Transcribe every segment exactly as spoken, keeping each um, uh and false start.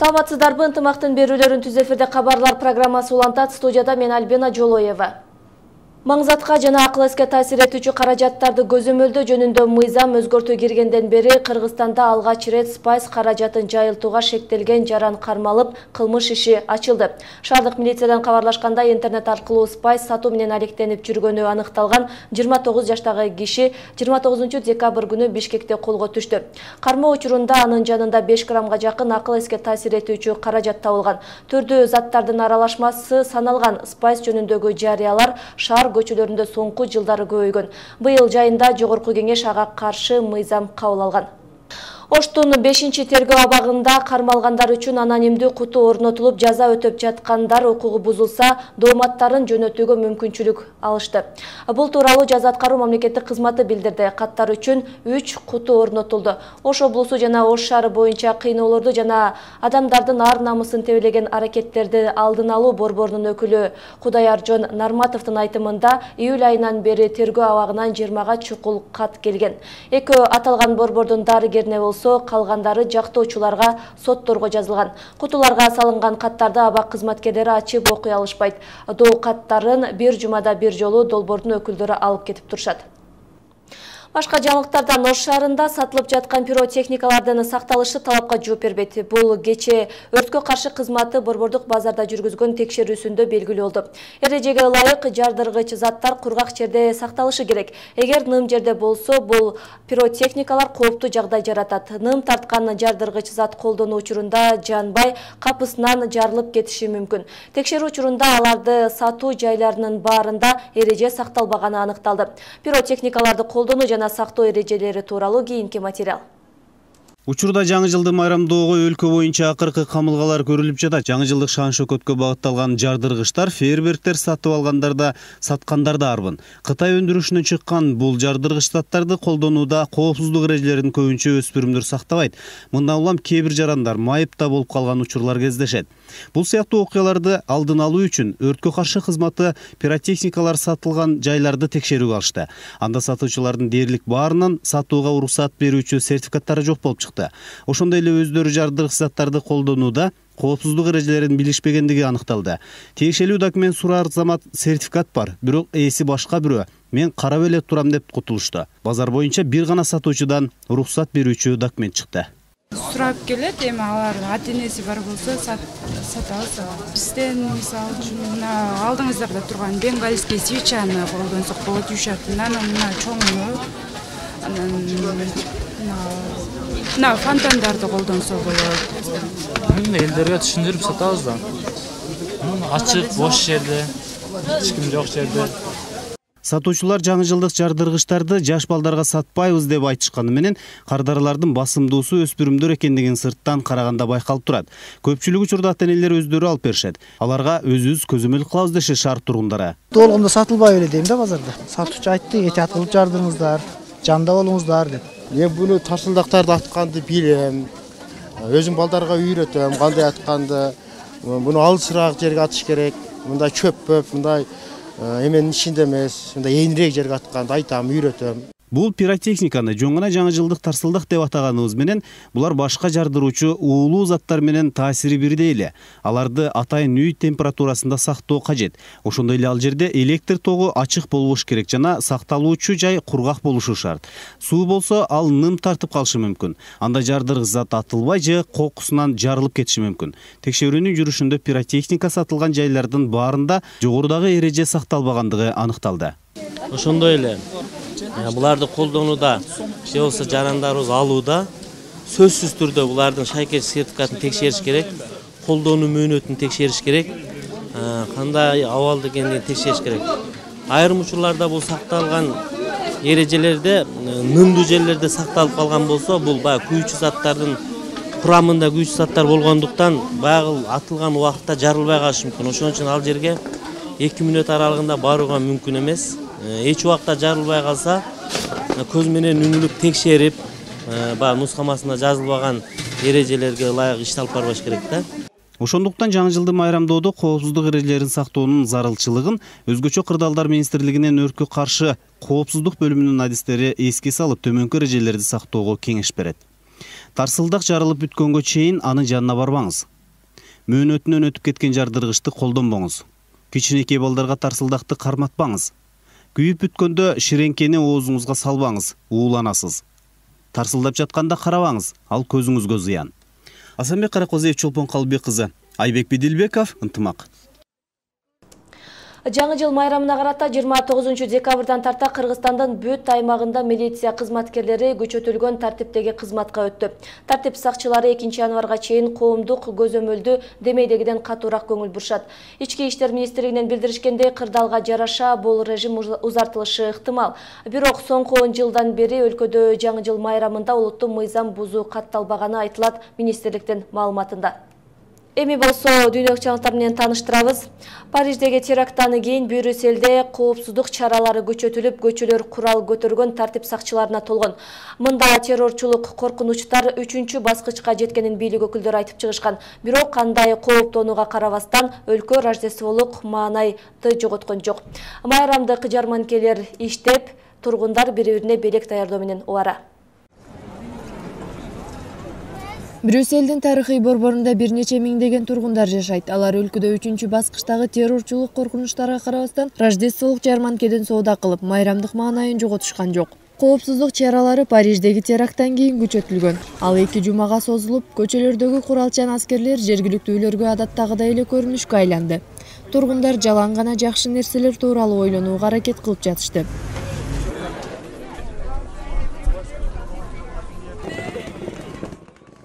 Саламатсыздарбы, ынтымактын берүүлөрүн түз эфирде кабарлар программасы улантат. Студияда мен Альбина Жолоева. Маңзатка жана акыл эске таасир этүүчү каражаттарды көзөмөлдөө жөнүндө мыйзам өзгөртүү киргенден бери Кыргызстанда алгач рет спайс каражатын жайылтууга шектелген жаран кармалып, кылмыш иши ачылды. Шаардык милициядан кабарлашкандай, интернет аркылуу спайс сатуу менен алектенип жүргөнү аныкталган жыйырма тогуз жаштагы киши жыйырма тогузунчу декабрь күнү Бишкекте колго түштү. Кармоо учурунда анын жанында беш граммга жакын акыл эске таасир этүүчү каражат табылган. Түрдүү заттардын аралашмасы саналган спайс жөнүндөгү жарыялар шаар көчөлөрүндө соңку жылдары көбөйгөн. Быйыл жайында жогорку кеңеш ага каршы мыйзам кабыл алган. Оштун бешинчи тергөө абагында кармалгандар үчүн анонимдүү куту орнотулуп, жаза өтөп жаткандар укугу бузулса, дооматтарын жөнөтүүгө мүмкүнчүлүк алышты. Бул тууралуу Жаза аткаруу мамлекеттик кызматы билдирди. Каттар үчүн үч куту орнотулду. Ош облусу жана Ош шаары боюнча кыйноолорду жана адамдардын ар намысын тебелеген аракеттерди алдын алуу борборунун өкүлү Кудайаржон Нарматовдун айтымында июль айынан бери тергөө абагынан жыйырмага чукул кат келген. Экөө аталган борбордун дарыгерине болсо, калгандары жактоочуларга, сотторго жазылган. Кутуларга салынган каттарды абак кызматкерлери ачып окуй алышпайт. Доо каттарын бир жумада бир жолу долбоордун өкүлдөрү алып кетип турушат. Башка жаңылыктардан Ош шаарында сатылып жаткан пиротехникалардын сакталышы талапка жооп бербейт. Бул кечээ өрткө каршы кызматы борбордук базарда жүргүзгөн текшерүүсүндө белгилүү болду. Эрежеге ылайык жардыргыч заттар кургак жерде сакталышы керек. Эгер ным жерде болсо, бул пиротехникалар кооптуу жагдай жаратат. Ным тарткан жардыргыч зат колдонуу учурунда жанбай, капысынан жарылып кетиши мүмкүн. Текшерүү учурунда аларды сатуу жайларынын баарында эреже сакталбаганы аныкталды. Пиротехникаларды колдонуу жана сактоо эрежелери тууралуу кийинки материал. Учурда жаңы жылды майрамдоого өлкө боюнча акыркы камылгалар көрүлүп жатат. Жаңы жылдык шан-шөкөткө багытталган жардыргычтар, фейерверктер сатып алгандарда, саткандарда арбын. Кытай өндүрүшүнөн чыккан бул жардыргыч заттарды колдонууда коопсуздук эрежелерин көбүнчө өспүрүмдөр сактабайт. Мындан улам кээ бир жарандар майыпта болуп калган учурлар кездешет. Бул сыяктуу окуяларды алдын алуу үчүн өрткө каршы кызматы пиротехникалар сатылган жайларды текшерүүгө алышты. Анда сатуучулардын дээрлик баарынан сатууга уруксат берүүчү сертификаттары жок болуп чыкты. Ошондой эле өздөрү жардыргыч заттарды колдонууда коопсуздук эрежелерин билишпегендиги аныкталды. Тиешелүү документ сураар замат сертификат бар, бирок ээси башка бирөө. Мен карап эле турам деп кутулушту. Базар боюнча бир гана сатуучудан уруксат берүүчү документ чыкты. Сурап келет, эми алар ата-энеси бар болсо сатабыз. Бизден мисалы үчүн алдыңыздарда турган бенгальский свечаны колдонсок болот, жушатынан мына чоңуну, анан мына фонтандарды колдонсо болот. Мен элдерге түшүндүрүп сатабыз да. Ачык, бош жерде, эч ким жок жерде. Сатуучулар жаңы жылдык жардыргычтарды жаш балдарга сатпайбыз деп айтышканы менен кардарылардын басымдуусу өспүрүмдөр экендигин сырттан караганда байкалып турат. Көпчүлүк учурда ата-энелер өздөрү алып беришет. Аларга өзүбүз көзөмөл кылабыз дешет шаар тургундары. Толгондо сатылбай эле дейм да базарда. Сатуучу айтты, этият кылып жардырыңыздар, жанда болуңуздар деп. Мен буну тарсылдактарды атканды билем. Өзүм балдарга үйрөтөм, кандай атканды. Буну алысыраак жерге атыш керек. Мындай чөппөп, мындай эменин ичинде эмес, мындай эйинирээк жерге атканды айтам, үйрөтөм. Бул пиротехниканы жөн гана жаңы жылдык тарсылдак деп атаганыбыз менен булар башка жардыруучу уулуу заттар менен таасири бирдей эле. Аларды атайын үй температурасында сактоо кажет. Ошондой эле ал жерде электр тогу ачык болбош керек жана сакталуучу жай кургак болушу шарт. Суу болсо ал ным тартып калышы мүмкүн. Анда жардыргыч зат атылбай же кокусунан жарылып кетиши мүмкүн. Текшерүүнүн жүрүшүндө пиротехника сатылган жайлардын баарында жогорудагы эреже сакталбагандыгы аныкталды. Ошондой эле буларды колдонууда же болбосо жарандарыбыз алууда сөзсүз түрдө булардын шайкеш сертификатын текшериш керек, колдонуу мөөнөтүн текшериш керек, кандай абалда экендигин текшериш керек. Айрым учурларда бул сакталган эрежелерде нымдуу жерлерде сакталып калган болсо, бул баягы күйүүчү заттардын курамында күйүүчү заттар болгондуктан баягы атылган убакытта жарылбай калышы мүмкүн. Ошон үчүн ал жерге эки мүнөт аралыгында барууга мүмкүн эмес. Эч убакта жарылбай калса, көз менен үңүлүп текшерип, баягы нускамасында жазылбаган эрежелерге ылайык иш алып барбаш керек да. Ошондуктан жаңы жылды майрамдоодо коопсуздук эрежелерин сактоонун зарылчылыгын өзгөчө кырдаалдар министрлигинин өрткө каршы коопсуздук бөлүмүнүн адистери эске салып, төмөнкү эрежелерди сактоого кеңеш берет. Тарсылдак жарылып бүткөнгө чейин анын жанына барбаңыз. Мөөнөтүнөн өтүп кеткен жардыргычты колдонбоңуз. Кичинекей балдарга тарсылдакты карматпаңыз. Күйүп бүткөндө ширеңкени оозуңузга салбаңыз, ууланасыз. Тарсылдап жатканда карабаңыз, ал көзүңүзгө зыян. Асанбек Каракозиев, Чолпон Калбек кызы, Айбек Бидилбеков, Ынтымак. Жаңы жыл майрамына карата жыйырма тогузунчу декабрдан тарта Кыргызстандын бүт аймагында милиция кызматкерлери күчөтүлгөн тартиптеги кызматка өттү. Тартип сакчылары экинчи январга чейин коомдук көзөмөлдү демейдегиден катуураак көңүл бурушат. Ички иштер министрлигинен билдиришкендей, кырдаалга жараша бул режим узартылышы ыктымал. Бирок соңку он жылдан бери өлкөдө жаңы жыл майрамында олуттуу мыйзам бузуу катталбаганы айтылат министрликтин маалыматында. Эми болсо дүйнөлүк жаңылыктар менен тааныштырабыз. Париждеги теракттан кийин Брюссельде коопсуздук чаралары күчөтүлүп, көчөлөр курал көтөргөн тартип сакчыларына толгон. Мында террорчулук коркунучтар үчүнчү баскычка жеткенин бийлик өкүлдөрү айтып чыгышкан. Бирок кандай кооптонууга карабастан өлкө рождестволук маанайды жоготкон жок. Майрамдык жарманкелер иштеп, тургундар бири-бирине белек даярдоо менен убара. Брюссельдин тарыхый борборунда бир нече миңдеген тургундар жашайт. Алар өлкөдө үчүнчү баскычтагы террорчулук коркунучтарга карабастан рождестволук жарманкеден соода кылып, майрамдык маанайын жоготушкан жок. Коопсуздук чаралары Париждеги теракттан кийин күчөтүлгөн. Ал эки жумага созулуп, көчөлөрдөгү куралчан аскерлер жергиликтүүлөргө адаттагыдай эле көрүнүшкө айланды. Тургундар жалаң гана жакшы нерселер тууралуу ойлонууга аракет кылып жатышты.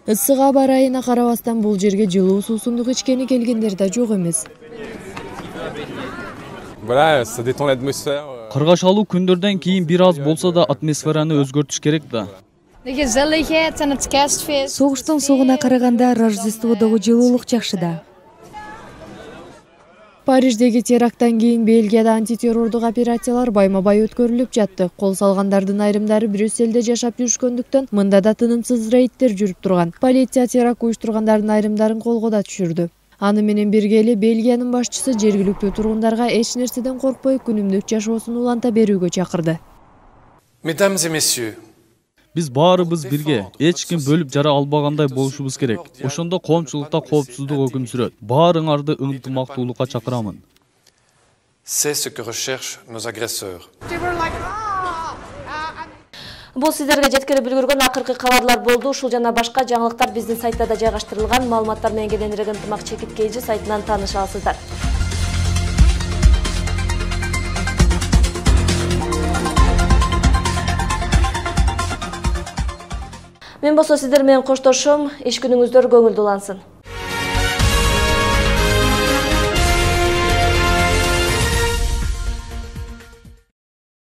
Ысык аба ырайына карабастан бул жерге жылуу суусундук ичкени келгендер да жок эмес. Кыргашалуу күндөрдөн кийин бир аз болсо да атмосфераны өзгөртүш керек да. Согуштун согуна караганда Рождестводогу жылуулук жакшы да. Париждеги теракттан кийин Бельгияда антитеррордук операциялар байма-бай өткөрүлүп жатты. Кол салгандардын айрымдары Брюссельде жашап жүрүшкөндүктөн мында да тынымсыз рейдтер жүрүп турган. Полиция теракт уюштургандардын айрымдарын колго да түшүрдү. Аны менен бирге эле Бельгиянын башчысы жергиликтүү тургундарга эч нерседен коркпой күнүмдүк жашоосун уланта берүүгө чакырды. Mesdames et messieurs, Биз баарыбыз бирге, эч ким бөлүп жара албагандай болушубуз керек. Ошондо коомчулукта коопсуздук өкүм сүрөт. Баарыңарды ынтымактуулукка чакырамын. C'est ce que recherchent nos agresseurs. Бул сиздерге жеткирип үлгүргөн акыркы кабарлар болду. Ушул жана башка жаңылыктар биздин сайтта да жайгаштырылган. Маалыматтар менен кененирээк ынтымак чекиткейжи сайтынан тааныша аласыздар. Мен болсо сиздер менен коштошом. Иш күнүңүздөр көңүлдүү улансын.